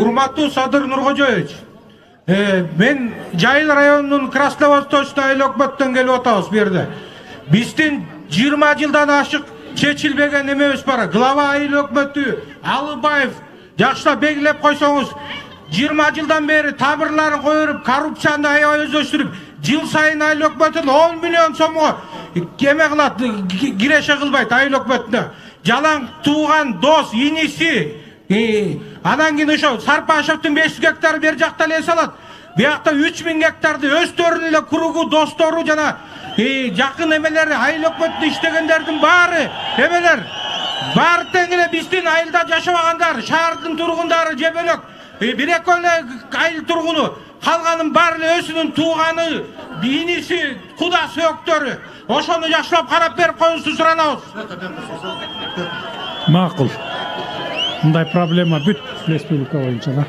Урматтуу Садыр Нуркожоевич, мен Жайыл районунун Красновосточный айыл өкмөттөн келип атабыз бу жерде. Биздин 20 жылдан ашык чечилбеген эмебиз бар. Глава айыл өкмөтү Алыбаев жакшылап белгилеп койсоңуз, 20 жылдан бери тамырларын коюп, коррупцияны аябай өздөштүрүп, жыл сайын айыл өкмөтүн 10 миллион сомго эме кылат, киреше кылбайт айыл өкмөтүнө. Жалаң тууган дос, иниси, анан кийин ошо Сарпашевдин 500 гектары бер жакта эле салат. Биякта 3000 гектарды өздөрүнүн эле кругу, достору жана жакын эмелери, айыл өкмөтүндө иштегендердин баары эмелер. Баары тең эле биздин айылда жашабагандар, шаардын тургундары же бөлөк, бир-эки эле айыл тургуну, калганын баары эле өзүнүн тууганы, иниси, кудасы, өктөрү. Ошону жакшылап карап берип коюңузду суранабыз. Макул. Мындай проблема бүт республика боюнча да.